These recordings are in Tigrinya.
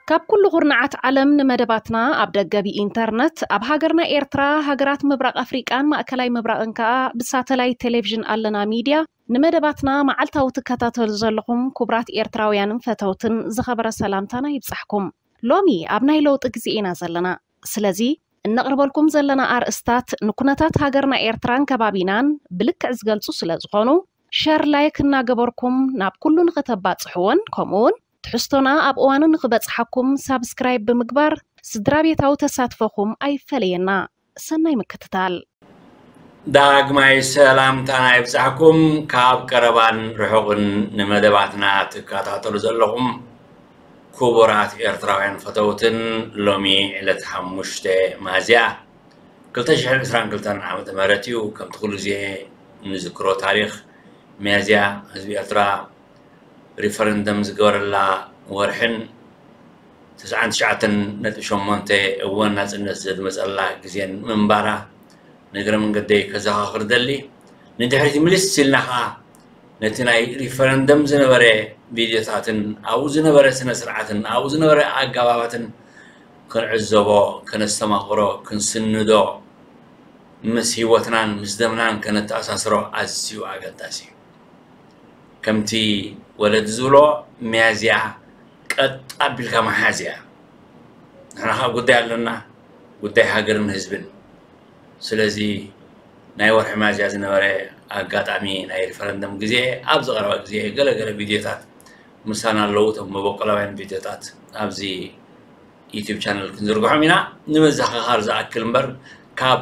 ካብ ኩሉ ኩርናዓት ዓለም ንመደባትና ኣብ ደገ ብኢንተርነት፣ ኣብ ሃገርና ኤርትራ፣ ሃገራት ምብራቕ ኣፍሪቃን ማእከላይ ምብራቕን ከኣ ብሳተላይት ቴሌቪዥን ኣለና ሚድያ ንመደባትና መዓልታዊ ትከታተሉ ዘለኹም ክቡራት ኤርትራውያንን ፈተውትን ዝኸበረ ሰላምታና ይብጻሕኩም። ሎሚ ኣብ ናይ ለውጢ ግዜ ኢና ዘለና። ስለዚ እነቕርበልኩም ዘለና ኣርእስታት ንኩነታት ሃገርና ኤርትራን ከባቢናን ብልክዕ ዝገልጹ ስለ ዝኾኑ፣ ሸር ላይክ እናገበርኩም ናብ ኩሉ ንኽተባጽሕዎን ከምኡውን ትሕዝቶና ኣብ እዋኑ ንኽበጽሓኩም ሳብስክራይብ ብምግባር ስድራ ቤታዊ ተሳትፎኹም ኣይፈለየና። ሰናይ ምክትታል። ዳግማይ ሰላምታና ይብጻሕኩም። ካብ ቀረባን ርሑቕን ንመደባትና ትከታተሉ ዘለኹም ክቡራት ኤርትራውያን ፈተውትን፣ ሎሚ ዕለት ሓሙሽተ ሚያዝያ ክልተ ሽሕን ዕስራን ክልተን ዓመተ ምህረት እዩ። ከምቲ ኩሉ ግዜ ንዝክሮ ታሪኽ፣ ሚያዝያ ህዝቢ ኤርትራ ሪፈረንደም ዝገበረላ ወርሕን ተስዓን ትሽዓተን ነጥቢ ሸሞንተ እዋን ናጽነት ዘድመጸላ ግዜን ምንባራ ንእግረ መንገደይ ከዘኻኽር ደሊ። ንድሕሪት ምልስ ኢልና ኸኣ ነቲ ናይ ሪፈረንደም ዝነበረ ቪድዮታትን ኣብኡ ዝነበረ ስነ ስርዓትን ኣብኡ ዝነበረ ኣገባባትን ክንዕዘቦ፣ ከነስተማቕሮ፣ ክንስንዶ፣ ምስ ህይወትናን ምስ ደምናን ከነተኣሳስሮ ኣዝዩ ኣገዳሲ እዩ። ከምቲ ወለዲ ዝብሎ፣ ሚያዝያ ቀጥ ኣቢልካ ምሓዝ እያ። ንሕና ኸኣ ጉዳይ ኣለና፣ ጉዳይ ሃገርን ህዝብን። ስለዚ ናይ ወርሒ ሚያዝያ ዝነበረ ኣጋጣሚ ናይ ሪፈረንደም ግዜ፣ ኣብዚ ቀረባ ግዜ ገለ ገለ ቪድዮታት ምሳና ኣለዉ፣ እቶም መበቆላውያን ቪድዮታት ኣብዚ ዩቱብ ቻነል ክንዝርግሖም ኢና። ንመዘኻኻር ዝኣክል እምበር፣ ካብ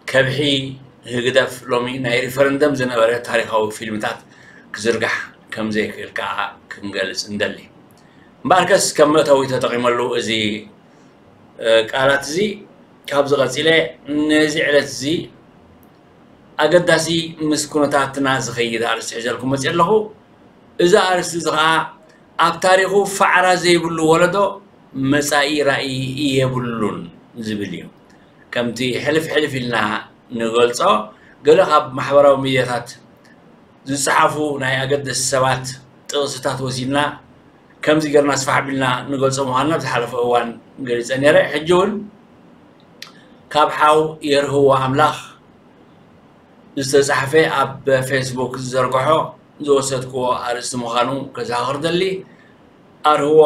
ከብሒ ህግደፍ ሎሚ ናይ ሪፈረንደም ዝነበረ ታሪኻዊ ፊልምታት ክዝርጋሕ ከም ዘይክእል ከኣ ክንገልጽ እንደሊ። እምበኣርከስ ከም መእተዊ ተጠቒመሉ እዚ፣ እ፣ ቃላት እዚ፣ ካብዚ ቀጺለ ነዚ ዕለት እዚ ኣገዳሲ ምስ ኩነታትና ዝኸይድ ኣርእስቲ ሒዘልኩም መጺአ ኣለኹ። እዚ ኣርእስቲ እዚ ኸኣ ኣብ ታሪኹ ፋዕራ ዘይብሉ ወለዶ መጻኢ ራእይ የብሉን ዝብል እዩ። ከምቲ ሕልፍ ሕልፍ ኢልና ንገልጾ፣ ገለ ካብ ማሕበራዊ ሚድያታት ዝጸሓፉ ናይ ኣገደስቲ ሰባት ጥቕስታት ወሲድና ከምዚ ጌርና ስፋሕ ኣቢልና ንገልጾ ምዃንና ኣብ ዝሓለፈ እዋን ገሊጸ ነይረ። ሕጂ እውን ካብ ሓው የርህዎ ኣምላኽ ዝተጻሕፈ ኣብ ፌስቡክ ዝዘርግሖ ዝወሰድክዎ ኣርእስቲ ምዃኑ ከዘኻኽር ደሊ። ኣርህዎ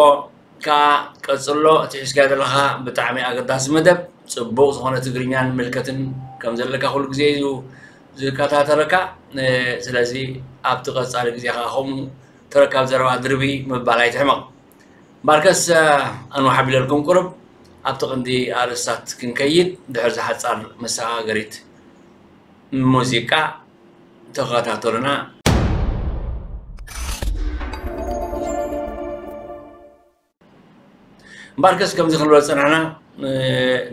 ከኣ ቀጽሎ፣ እቲ ሒዝካዮ ዘለኻ ብጣዕሚ ኣገዳሲ መደብ፣ ጽቡቕ ዝኾነ ትግርኛን ምልከትን ከም ዘለካ ኩሉ ግዜ እዩ ዝከታተለካ። እ፣ ስለዚ ኣብቲ ቀጻሊ ግዜ ከኣ ከምኡ ተረካብ ዘረባ ድርቢ ምባል ኣይትሕመቕ። እምበኣርከስ፣ እ፣ ኣንውሕ ኣቢለልኩም ቁሩብ ኣብቲ ቀንዲ ኣርእስታት ክንከይድ፣ ድሕሪ እዛ ሓጻር መሰጋገሪት ሙዚቃ ተኸታተሉና። እምበኣርከስ ከምዚ ክንብሎ ዝጸናሕና፣ እ፣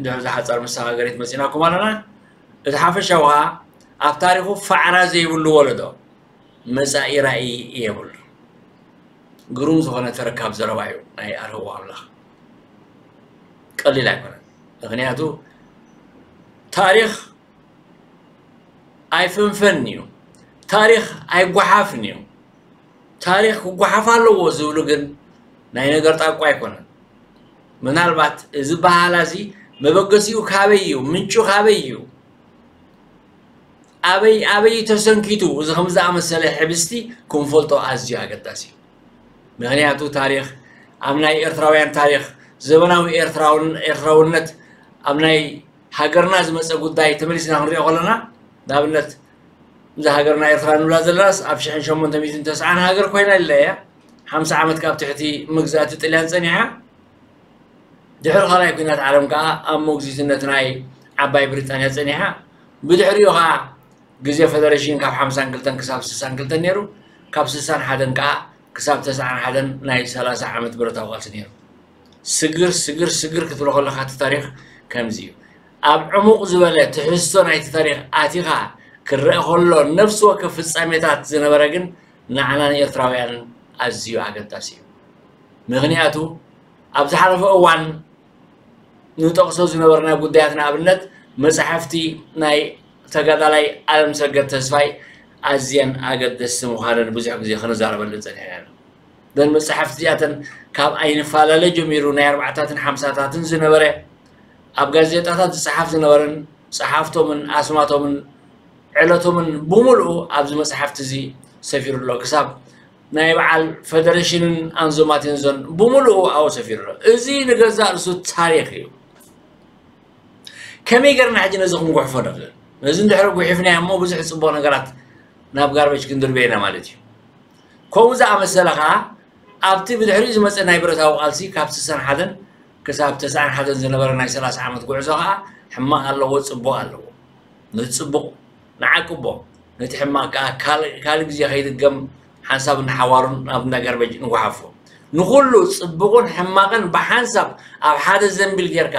ድሕሪ እዛ ሓጻር መሰጋገሪት መጺናኩም ኣለና። እቲ ሓፈሻዊ ከኣ ኣብ ታሪኹ ፋዕራ ዘይብሉ ወለዶ መጻኢ ራእይ የብሉ። ግሩም ዝኾነ ተረካብ ዘረባ እዩ ናይ ኣርህዎ ኣምላኽ። ቀሊል ኣይኮነን። ምኽንያቱ ታሪኽ ኣይፍንፈን እዩ። ታሪኽ ኣይጓሓፍን እዩ። ታሪኽ ክጓሓፍ ኣለዎ ዝብሉ ግን ናይ ነገር ጣቋ ኣይኮነን። ምናልባት እዚ በሃላ እዚ መበገሲኡ ካበይ እዩ? ምንጩ ካበይ እዩ? ኣበይ፣ ኣበይ ተሰንኪቱ? እዚ ከም ዝኣመሰለ ሕብስቲ ክንፈልጦ ኣዝዩ ኣገዳሲ እዩ። ምኽንያቱ ታሪኽ ኣብ ናይ ኤርትራውያን ታሪኽ፣ ዘበናዊ ኤርትራውን-፣ ኤርትራውነት ኣብ ናይ ሃገርና ዝመጸ ጉዳይ ተመሊስና ክንሪኦ ከለና፣ ንኣብነት እዛ ሃገርና ኤርትራ ንብላ ዘለናስ ኣብ ሽሕን ሸሞንተ ሚእትን ተስዓን ሃገር ኮይና ኣላ እያ። ሓምሳ ዓመት ካብ ትሕቲ መግዛእቲ ጥልያን ጸኒሓ። ድሕሪ ካልኣይ ኲናት ዓለም ከኣ ኣብ ሞግዚትነት ናይ ዓባይ ብሪጣንያ ጸኒሓ። ብድሕሪኡ ከኣ ግዜ ፈደረሽን ካብ ሓምሳን ክልተን ክሳብ ስሳን ክልተን ነይሩ። ካብ ስሳን ሓደን ከኣ ክሳብ ተስዓን ሓደን ናይ ሰላሳ ዓመት ብረታዊ ቃልሲ ነይሩ። ስግር፣ ስግር፣ ስግር ክትብሎ ከለኻ እቲ ታሪኽ ከምዚ እዩ። ኣብ ዕሙቕ ዝበለ ትሕዝቶ ናይቲ ታሪኽ ኣቲኻ ክረአ ከሎ፣ ነፍሲ ወከፍ ፍጻሜታት ዝነበረ ግን ንዓና ንኤርትራውያን ኣዝዩ ኣገዳሲ እዩ። ምኽንያቱ ኣብ ዝሓለፈ እዋን ንጠቕሶ ዝነበርና ጉዳያት፣ ንኣብነት መጻሕፍቲ ናይ ተጋዳላይ ኣለምሰገድ ተስፋይ ኣዝየን ኣገደስቲ ምዃነን ብዙሕ ግዜ ክንዛረበለን ጸኒሕና ኢና። እዘን መጻሕፍቲ እዚኣተን ካብ ኣይንፈላለ ጀሚሩ ናይ ኣርባዕታትን ሓምሳታትን ዝነበረ ኣብ ጋዜጣታት ዝጸሓፍ ዝነበረን ጸሓፍቶምን ኣስማቶምን ዕለቶምን ብምልኡ ኣብዚ መጽሓፍቲ እዚ ሰፊሩ ኣሎ። ክሳብ ናይ በዓል ፈደረሽንን ኣንዞ ማቴንዞን ብምልኡ ኣብኡ ሰፊሩ ኣሎ። እዚ ንገዛእ ርእሱ ታሪኽ እዩ። ከመይ ጌርና ሕጂ ነዚ ክንጉሕፎ ንኽእል? ነዚ እንድሕሪ ጉሒፍናዮ እሞ ብዙሕ ጽቡቕ ነገራት ናብ ጋርበጅ ክንድርብዮ ኢና ማለት እዩ። ከምኡ ዝኣመሰለ ኸኣ ኣብቲ ብድሕሪኡ ዝመጸ ናይ ብረታዊ ቃልሲ ካብ ስሳን ሓደን ክሳብ ተስዓን ሓደን ዝነበረ ናይ ሰላሳ ዓመት ጉዕዞ ኸኣ ሕማቕ ኣለዎ፣ ጽቡቕ ኣለዎ። ነቲ ጽቡቕ ንዓቅቦ፣ ነቲ ሕማቕ ከኣ ካልእ ካልእ ግዜ ከይድገም ሓንሳብ ንሓዋሩን ናብ እንዳ ጋርበጅ ንጉሓፎ። ንኹሉ ጽቡቕን ሕማቕን ብሓንሳብ ኣብ ሓደ ዘንቢል ጌርካ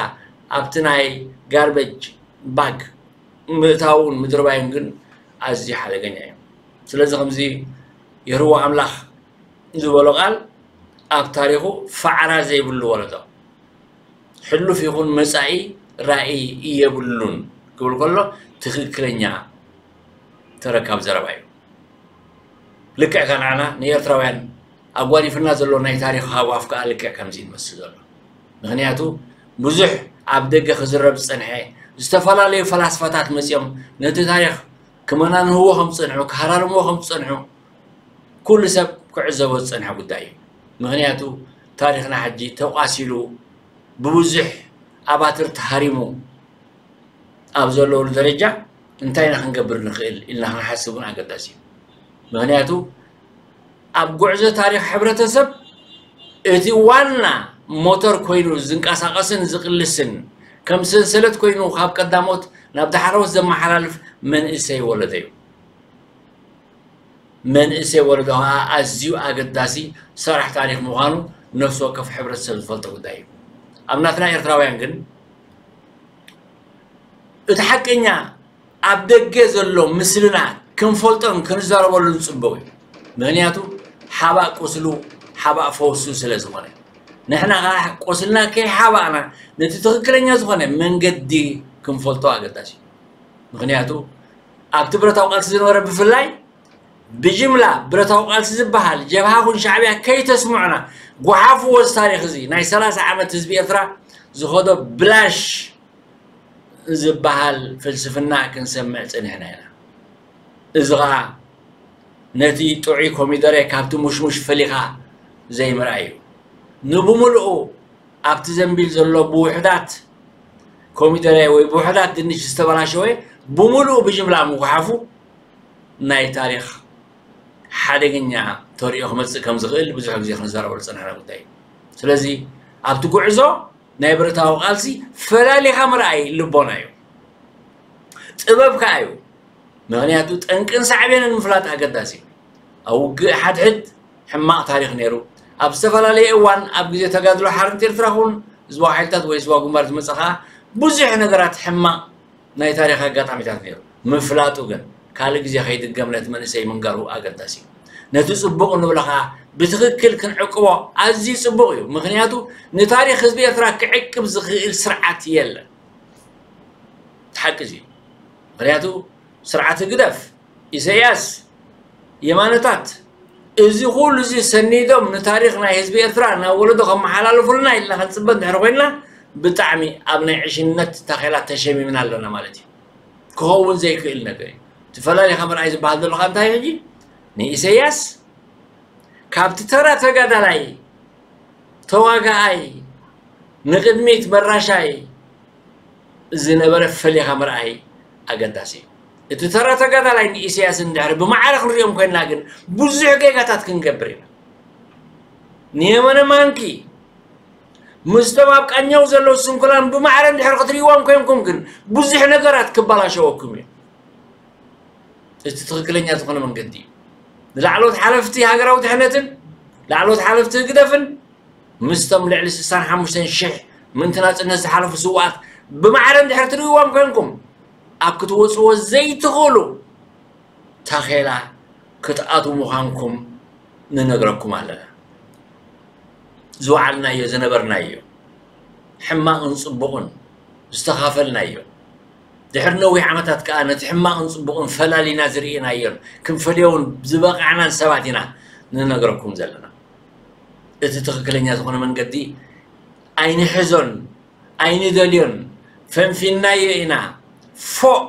ኣብቲ ናይ ጋርበጅ ባግ ምእታውን ምድርባይን ግን ኣዝዩ ሓደገኛ እዩ። ስለዚ ከምዚ የርዎ ኣምላኽ ዝበሎ ቃል ኣብ ታሪኹ ፋዕራ ዘይብሉ ወለዶ፣ ሕሉፍ ይኹን መጻኢ ራእይ የብሉን ክብል ከሎ ትኽክለኛ ተረካብ ዘረባ እዩ። ልክዕ ከነዓና ንኤርትራውያን ኣጓኒፍና ዘሎ ናይ ታሪኽ ሃጓፍ ከኣ ልክዕ ከምዚ ይመስል ዘሎ። ምኽንያቱ ብዙሕ ኣብ ደገ ክዝረብ ዝጸንሐ፣ ዝተፈላለዩ ፈላስፋታት መጺኦም ነቲ ታሪኽ ክመናንህዎ ከም ዝጸንሑ፣ ክሃራርምዎ ከም ዝጸንሑ ኩሉ ሰብ ክዕዘቦ ዝጸንሐ ጉዳይ እዩ። ምኽንያቱ ታሪኽና ሕጂ ተቋሲሉ ብብዙሕ ኣባትር ተሃሪሙ ኣብ ዘለውሉ ደረጃ እንታይ ኢና ክንገብር ንኽእል ኢልና ክንሓስብ እውን ኣገዳሲ እዩ። ምኽንያቱ ኣብ ጉዕዞ ታሪኽ ሕብረተሰብ እቲ ዋና ሞተር ኮይኑ ዝንቀሳቐስን ዝቕልስን ከም ሰንሰለት ኮይኑ ካብ ቀዳሞት ናብ ዳሕረዎት ዘመሓላልፍ መንእሰይ ወለዶ እዩ። መንእሰይ ወለዶ ኸዓ ኣዝዩ ኣገዳሲ ሰራሕ ታሪኽ ምዃኑ ነፍሲ ወከፍ ሕብረተሰብ ዝፈልጦ ጉዳይ እዩ። ኣብ ናትና ኤርትራውያን ግን እቲ ሓቀኛ ኣብ ደገ ዘሎ ምስልና ክንፈልጦን ክንዛረበሉን ጽቡቕ እዩ። ምኽንያቱ ሓባእ ቁስሉ ሓባእ ፈውሱ ስለ ዝኾነ፣ ንሕና ኸዓ ቁስልና ከይሓባእና ነቲ ትኽክለኛ ዝኾነ መንገዲ ክንፈልጦ ኣገዳሲ እዩ። ምኽንያቱ ኣብቲ ብረታዊ ቃልሲ ዝነበረ ብፍላይ ብጅምላ ብረታዊ ቃልሲ ዝበሃል ጀብሃ ኹን ሻዕብያ ከይተስምዑና፣ ጓሓፍዎ እዚ ታሪኽ እዚ ናይ ሰላሳ ዓመት ህዝቢ ኤርትራ ዝኸዶ ብላሽ ዝበሃል ፍልስፍና ክንሰምዕ ጸኒሕና ኢና። እዚ ኸኣ ነቲ ጥዑይ ኮሚደረ ካብቲ ሙሽሙሽ ፈሊኻ ዘይምርኣይ እዩ። ንብምልኡ ኣብቲ ዘንቢል ዘሎ ብውሑዳት ኮሚደረ ወይ ብውሑዳት ድንሽ ዝተበላሸወ ብምልኡ ብጅምላ ምጉሓፉ ናይ ታሪኽ ሓደገኛ ተርእዮ ክመጽእ ከም ዝኽእል ብዙሕ ግዜ ክንዛረበሉ ዝጸናሕና ጉዳይ እዩ። ስለዚ ኣብቲ ጉዕዞ ናይ ብረታዊ ቃልሲ ፈላሊኻ ምርኣይ ልቦና እዩ፣ ጥበብ ከኣ እዩ። ምኽንያቱ ጠንቅን ሳዕቤንን ምፍላጥ ኣገዳሲ እዩ። ኣብ ውግእ ሓድሕድ ሕማቕ ታሪኽ ነይሩ። ኣብ ዝተፈላለየ እዋን ኣብ ግዜ ተጋድሎ ሓርነት ኤርትራ ኹን ህዝባዊ ሓይልታት ወይ ህዝባዊ ግንባር ዝመጸ ኸኣ ብዙሕ ነገራት ሕማቕ ናይ ታሪኽ ኣጋጣሚታት ነይሩ። ምፍላጡ ግን ካልእ ግዜ ከይድገም ነቲ መንእሰይ ምንጋሩ ኣገዳሲ እዩ። ነቲ ጽቡቕ ንብሎ ኸኣ ብትኽክል ክንዕቅቦ ኣዝዩ ጽቡቕ እዩ። ምኽንያቱ ንታሪኽ ህዝቢ ኤርትራ ክዕቅብ ዝኽእል ስርዓት የለን። እቲ ሓቂ እዚ እዩ። ምኽንያቱ ስርዓት ህግደፍ፣ ኢሳያስ፣ የማነታት፣ እዚ ኩሉ እዚ ሰኒዶም ንታሪኽ ናይ ህዝቢ ኤርትራ ናብ ወለዶ ከመሓላልፉልና ኢልና ክንጽበ እንድሕር ኮይንና፣ ብጣዕሚ ኣብ ናይ ዕሽነት ታኼላ ተሸሚምና ኣለና ማለት እዩ። ክኸውን ዘይክእል ነገር እዩ። እቲ ፈላሊኻ ምርኣይ ዝበሃል ዘሎ ካብ እንታይ ሕጂ? ንኢሳያስ ካብቲ ተራ ተጋዳላይ፣ ተዋጋኣይ፣ ንቕድሚት መራሻይ ዝነበረ ፈሊኻ ምርኣይ ኣገዳሲ እዩ። እቲ ተራ ተጋዳላይ ንኢሳያስ እንድሕር ብማዕረ ክንሪኦም ኮይንና ግን ብዙሕ ጌጋታት ክንገብር ኢና። ንየመነ ማንኪ ምስቶም ኣብ ቃኛው ዘለዉ ስንኩላን ብማዕረ እንድሕር ክትርእይዎም ኮይንኩም ግን ብዙሕ ነገራት ክበላሸወኩም እዩ። እቲ ትኽክለኛ ዝኾነ መንገዲ እዩ። ንላዕለዎት ሓለፍቲ ሃገራዊ ድሕነትን ላዕለዎት ሓለፍቲ ህግደፍን ምስቶም ልዕሊ ስሳን ሓሙሽተን ሽሕ ምእንቲ ናጽነት ዝሓለፉ ስውኣት ብማዕረ እንድሕር ትርእይዎም ኮይንኩም ኣብ ክትወጽዎ ዘይትኽእሉ ታኼላ ክትኣትዉ ምዃንኩም ንነግረኩም ኣለና። ዝወዓልናዮ ዝነበርናዮ፣ ሕማቕን ጽቡቕን ዝተኻፈልናዮ፣ ድሕሪ ነዊሕ ዓመታት ከኣ ነቲ ሕማቕን ጽቡቕን ፈላሊና ዝርኢናዮን ክንፈልዮውን ዝበቓዕናን ሰባት ኢና ንነግረኩም ዘለና። እቲ ትኽክለኛ ዝኾነ መንገዲ ኣይንሕዞን፣ ኣይንደልዮን፣ ፈንፊንናዮ ኢና፣ ፎእ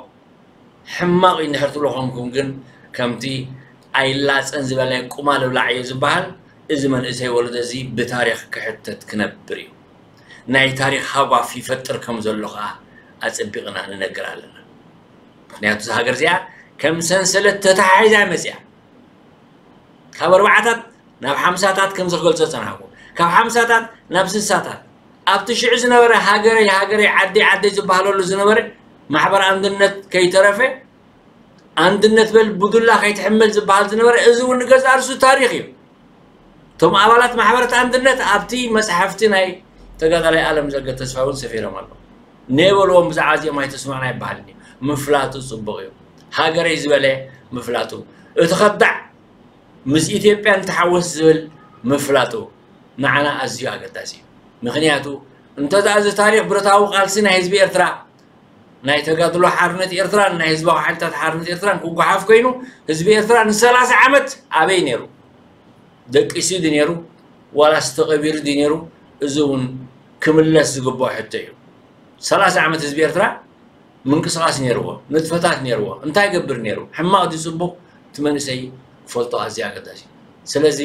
ሕማቕ እዩ እንድሕር ትብሉ ኮንኩም ግን፣ ከምቲ ኣይላጸን ዝበለ ቁማል እብላዕ እዩ ዝበሃል፣ እዚ መንእሰይ ወለዶ እዚ ብታሪኽ ክሕተት ክነብር እዩ። ናይ ታሪኽ ሃጓፍ ይፈጥር ከም ዘሎ ከኣ ኣጸቢቕና ንነግር ኣለና። ምኽንያቱ እዛ ሃገር እዚኣ ከም ሰንሰለት ተተሓሒዛ እያ መጺኣ። ካብ ኣርባዓታት ናብ ሓምሳታት ከምዚ ክገልጾ ዝጸናሕኩ፣ ካብ ሓምሳታት ናብ ስሳታት ኣብቲ ሽዑ ዝነበረ ሃገረይ ሃገረይ ዓደይ ዓደይ ዝበሃለሉ ዝነበረ ማሕበር ኣንድነት ከይተረፈ ኣንድነት በል ብዱላ ከይትሕመል ዝበሃል ዝነበረ፣ እዚ እውን ንገዛእ ርእሱ ታሪኽ እዩ። እቶም ኣባላት ማሕበራት ኣንድነት ኣብቲ መጽሓፍቲ ናይ ተጋዳላይ ኣለም ዘገ ተስፋ እውን ሰፊሮም ኣለዉ። ነበልዎም ብዛዕባ እዚኦም ኣይተስማዕና ይበሃል እዩ። ምፍላጡ ጽቡቕ እዩ። ሃገረይ ዝበለ ምፍላጡ፣ እቲ ከዳዕ ምስ ኢትዮጵያ ንተሓወስ ዝብል ምፍላጡ ንዓና ኣዝዩ ኣገዳሲ እዩ። ምኽንያቱ እንተ ደኣ እዚ ታሪኽ ብረታዊ ቃልሲ ናይ ህዝቢ ኤርትራ፣ ናይ ተጋድሎ ሓርነት ኤርትራን ናይ ህዝባዊ ሓይልታት ሓርነት ኤርትራን ክጓሓፍ ኮይኑ፣ ህዝቢ ኤርትራ ንሰላሳ ዓመት ኣበይ ነይሩ? ደቂሱ ድዩ ነይሩ? ዋላስ ተቐቢሩ ድዩ ነይሩ? እዚ እውን ክምለስ ዝግብኦ ሕቶ እዩ። ሰላሳ ዓመት ህዝቢ ኤርትራ ምንቅስቓስ ነይርዎ፣ ንጥፈታት ነይርዎ። እንታይ ይገብር ነይሩ? ሕማቕ ድዩ ጽቡቕ? እቲ መንእሰይ ክፈልጦ ኣዝዩ ኣገዳሲ እዩ። ስለዚ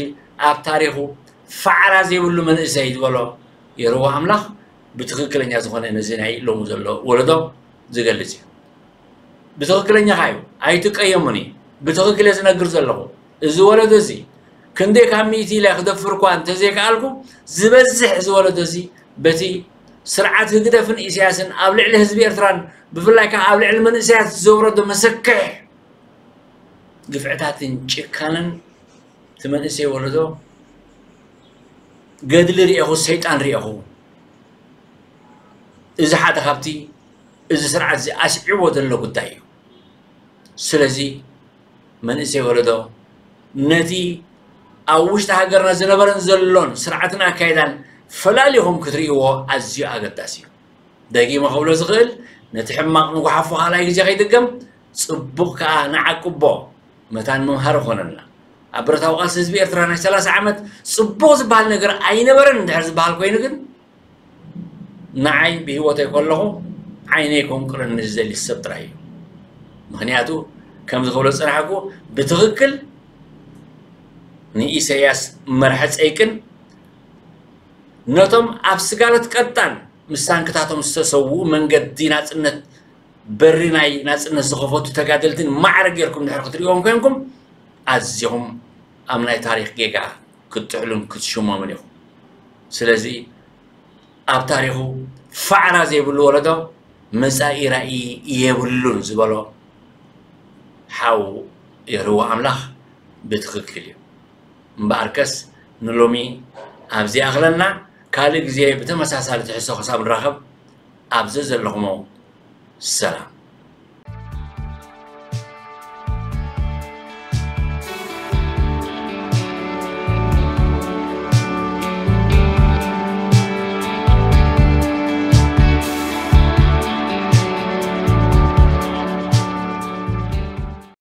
ኣብ ታሪኹ ፋዕራ ዘይብሉ መንእሰይ ዝበሎ የርዋ ኣምላኽ ብትኽክለኛ ዝኾነ ነዚ ናይ ሎሚ ዘሎ ወለዶ ዝገልጽ እዩ። ብትኽክለኛ ኸኣ እዩ፣ ኣይትቀየሙኒ። ብትኽክል እየ ዝነግር ዘለኹ። እዚ ወለዶ እዚ ክንደይ ካብ ሚእቲ ኢለ ክደፍር እኳ እንተዘይከኣልኩ፣ ዝበዝሕ እዚ ወለዶ እዚ በቲ ስርዓት ህግደፍን ኢሳያስን ኣብ ልዕሊ ህዝቢ ኤርትራን ብፍላይ ከኣ ኣብ ልዕሊ መንእሰያት ዘውረዶ መሰክሕ ግፍዕታትን ጭካነን እቲ መንእሰይ ወለዶ ገድሊ ርኤኹ፣ ሰይጣን ርኤኹ። እዚ ሓደ ካብቲ እዚ ስርዓት እዚ ኣስዒቦ ዘሎ ጉዳይ እዩ። ስለዚ መንእሰይ ወለዶ ነቲ ኣብ ውሽጢ ሃገርና ዝነበረን ዘሎን ስርዓትን ኣካይዳን ፈላሊኹም ክትርእይዎ ኣዝዩ ኣገዳሲ እዩ። ደጊመ ክብሎ ዝኽእል፣ ነቲ ሕማቕ ንጉሓፎ ካልኣይ ግዜ ከይድገም፣ ጽቡቕ ከኣ ንዓቅቦ፣ መታን መምሃሪ ኮነና። ኣብ ብረታዊ ቃልሲ ህዝቢ ኤርትራ ናይ ሰላሳ ዓመት ጽቡቕ ዝበሃል ነገር ኣይነበረን እንድሕር ዝበሃል ኮይኑ ግን፣ ንዓይ ብህይወተይ ከለኹ ዓይነይ ከንቁረኒ ዝደሊ ሰብ ጥራይ እዩ። ምኽንያቱ ከምዚ ክብሎ ዝጸናሕኩ፣ ብትኽክል ንኢሰያስ መርሐ ጸይቅን ነቶም ኣብ ስጋለት ቀጣን ምስ ታንክታቶም ዝተሰውኡ መንገዲ ናጽነት በሪ ናይ ናጽነት ዝኸፈቱ ተጋደልትን ማዕረ ጌርኩም ድሕር ክትርእዎም ኮንኩም ኣዚኹም ኣብ ናይ ታሪኽ ጌጋ ክትጥሕሉን ክትሽመሙን ኢኹም። ስለዚ ኣብ ታሪኹ ፋዕራ ዘይብሉ ወለዶ መጻኢ ራእይ የብሉን ዝበሎ ሓው የርዋ ኣምላኽ ብትኽክል እዩ። እምበኣርከስ ንሎሚ ኣብዚ ኣኽለና፣ ካልእ ግዜ ብተመሳሳሊ ትሕዝቶ ክሳብ ንራኸብ ኣብ ዘዘለኹሞ ሰላም።